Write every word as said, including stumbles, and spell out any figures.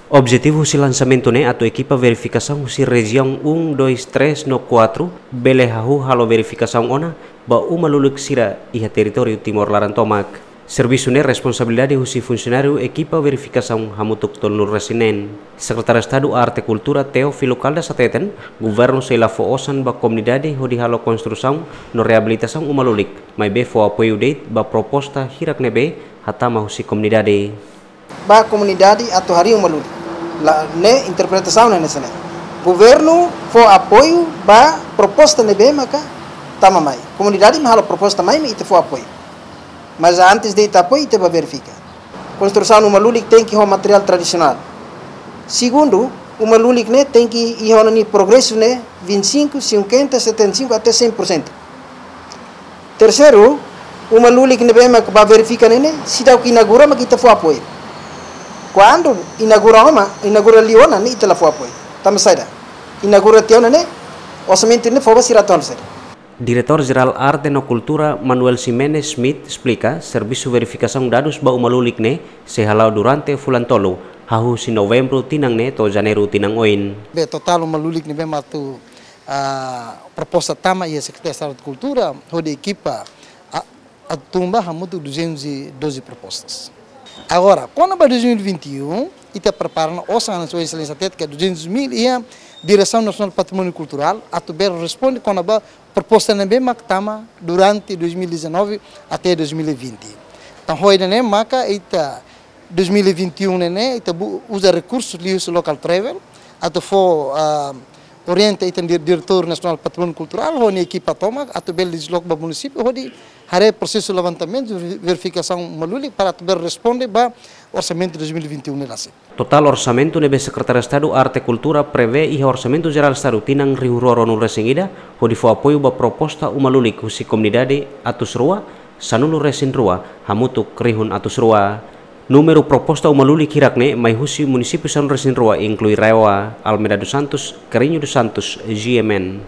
Objetivu husi lansamentu ne'e atu ekipa verifikasaun husi rejiaun um, dois, três no quatro bele hahú halo verifikasaun ona ba uma lulik sira iha territóriu Timor laran tomak. Servisu ne'e responsabilidade husi funsionáriu ekipa verifikasaun hamutuk tolunulu-resin-neen. Sekretáriu Estadu Arte Kultura Teófilo Caldas hateten, governu sei la fó osan ba komunidade hodi halo konstrusaun no reabilitasaun uma lulik, maibé fó apoiu de'it ba proposta hirak ne'ebé hatama husi komunidade. Ba komunidade atu harii uma lulik. La, ne'e interpretasaun ne'e hanesan ne'e. Governu fó apoiu ba proposta ne'ebé maka tama mai. Komunidade mak halo proposta mai, mak ita fó apoiu. Mas antes de ita apoiu, ita bá verifika. Konstrusaun uma lulik tenke ho materiál tradisionál. Segundu, uma lulik ne'e tenke iha ona nia progresu ne'e vinte e cinco, cinquenta, setenta e cinco até cem por cento. Terseiru, uma lulik ne'ebé mak bá verifika ne'e ne'e, seidauk inaugura mak ita fó apoiu. Kuandu inaugura ona, inaugura liu ona ne'e ita la fó apoiu. Tanba saida? Inaugura tiha ona ne'e, orsamentu ne'e fó ba sira atu halo saida? Diretór Jerál Arte no Kultura Manuel Ximenes Schmidt esplika, servisu verifikasaun dadus ba uma lulik ne'e sei hala'o durante fulan tolu, hahú husi Novembru tinan ne'e to'o Janeiru tinan oin. Be totál uma lulik ne'ebé mak atu, ah, proposta tama iha Sekretáriu Estadu Kultura, hodi ekipa, ah, atu tun ba hamutuk duzentos e doze propostas. Agora, kona-ba dois mil e vinte e um, ita prepara ona osan, Sua Exelénsia hateten katak duzentos mil iha Diresaun Nasionál Patrimóniu Kulturál, atu bele responde kona-ba proposta ne'ebé mak tama durante dois mil e dezanove até dois mil e vinte. Entaun, ho ida-ne'e maka ita dois mil e vinte e um ne'e ne'e, ita bu-, uza rekursu liuhusi local travel, atu fó, ah, orienta ita-nia dir-, Diretór Nasionál Patrimóniu Kulturál, ho nia ekipa tomak, atu bele desloka ba munisípiu, hodi haree prosesu levantamentu, ver-, verifikasaun uma lulik, para atu bele responde ba orsamentu dois mil e vinte e um ne'e rasik. Totál orsamentu ne'ebé Sekretáriu Estadu Arte Kultura prevee iha Orsamentu Jerál Estadu tinan rihun rua ruanulu-resin-ida, hodi fó apoiu ba proposta uma lulik husi komunidade atus rua, sanulu-resin-rua, hamutuk rihun atus rua. Númeru proposta uma lulik hirak ne'e mai husi munisípiu sanulu-resin-rua, inklui RAEOA, Almeida dos Santos, Carreño dos Santos, G M N.